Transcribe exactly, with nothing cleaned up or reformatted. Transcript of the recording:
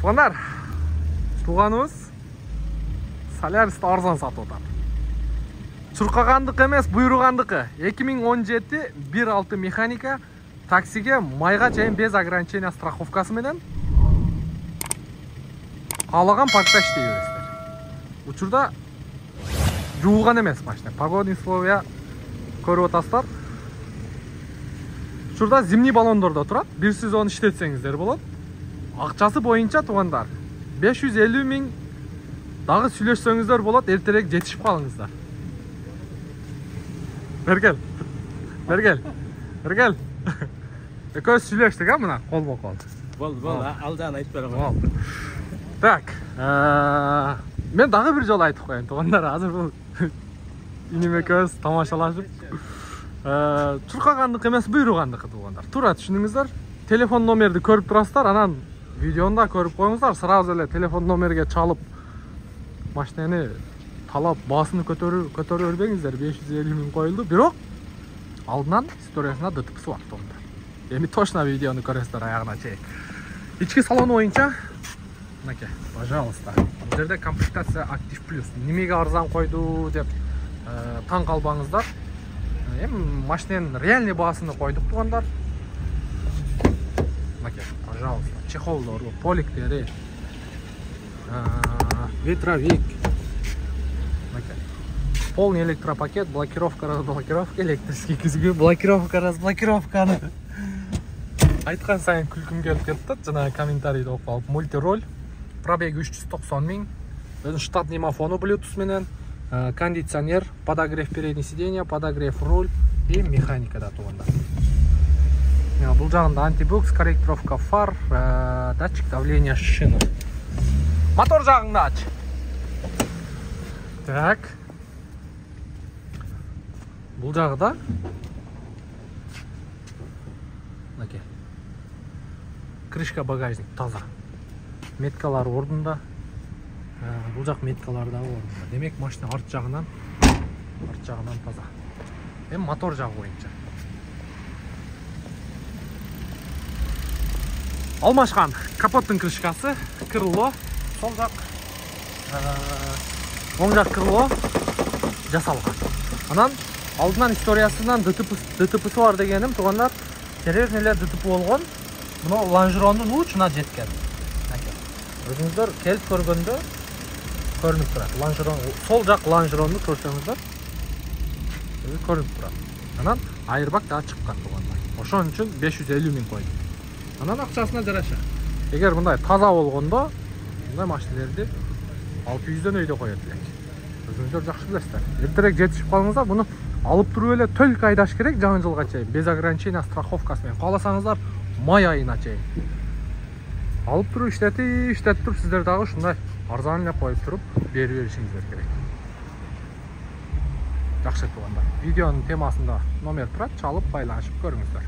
Туугандар, тууганыбыз Соляристи арзан сатып атат. Чуркагандык эмес, буйругандыкы. эки миң он жети бир алты механика таксиге майга чейин без ограничения страховкасы менен каалаган паркта иштей бересиздер. Учурда жуулган эмес машина. Погодный условия көрүп атасыздар. Учурда зимний баллондордо турат. Бир сезон иштетсеңиздер болот. Акчасы боюнча туугандар беш жүз элүү миң дагы сүйлөшсөңүздөр болот, эртерээк жетишип калыңыздар. Бергел. Бергел. Бергел. Экөөбүз сүйлөштүк, а мына колмо-кол. Болду, болду. Алдан айтып берем. Так, мен дагы бир жолу айтып коеюн туугандар, азыр бул иним экөөбүз тамашалашып. Чуркагандык эмес, буйругандыкы туугандар. Туура түшүнүңүздөр. Телефон номерди көрүп турасыздар, анан видеону да көрүп коюңуздар. Сразу эле телефон номерге чалып машинени талап баасыны көтөрүп көтөрө бербеңиздер. беш жүз элүү миң коюлду, бирок алдынан историясына дтпсы бар туугандар. Эми точно видеону көрөсүздөр аягына чейин. Ички салону боюнча мынакей, пожалуйста. Бул жерде комплектация Active Plus. Немеге арзан койду деп таң калбаңыздар. Эми машиненин реальный баасыны койдук туугандар. Мынакей, пожалуйста. Чехолдору, поликтери, ветровик. Полный электропакет, блокировка, разблокировка, электрический күзгү, блокировка, разблокировканы. Айткан сайын күлкүм келип кетти, жана комментарийди окуп алып. Мультироль, пробеги үч жүз токсон миң, өзүнүн штатный мафону Bluetooth менен, кондиционер, подогрев передний сиденья, подогрев руль и механикада туугандар. Бул жагында антибукс, корректировка фар, датчик давления шины. Мотор жагыңды ач. Так. Бул жагда мынакей. Крышка багажник таза. Меткалар ордунда. Бул жак меткалар да ордунда. Демек машина арт жагынан арт жагынан таза. Эми мотор жагы боюнча. Алмашкан капоттун крышкасы, крыло, сол жак, оң жак крыло жасалган. Анан алдынан историясынан дтпсы бар дегеним туугандар, серьезный эле дтп болгон. Мына лонжерондун учуна жеткен. Өзүңүздөр келип көргөндө көрүнүп турат. Лонжерон, сол жак лонжеронду көрсөңүздөр көрүнүп турат. Анан айырбак да чыккан туугандар. Ошон үчүн беш жүз элүү миң койдум. Анан акчасына жараша. Эгер мындай таза болгондо, мындай машинелерди алты жүздөн өйдө коет элек. Өзүңүздөр жакшы билесиздер. Эртерээк жетишип калыңыздар. Буну алып туруп эле төлкө айдаш керек жаңы жылга чейин, без ограничения страховкасы менен. Кааласаңыздар май айына чейин. Алып туруп иштетип, иштетип туруп сиздер дагы ушундай арзан эле коюп туруп берип беришиңиздер керек. Жакшы туугандар. Видеонун темасында номер турат, чалып байланышып көрүңүздөр.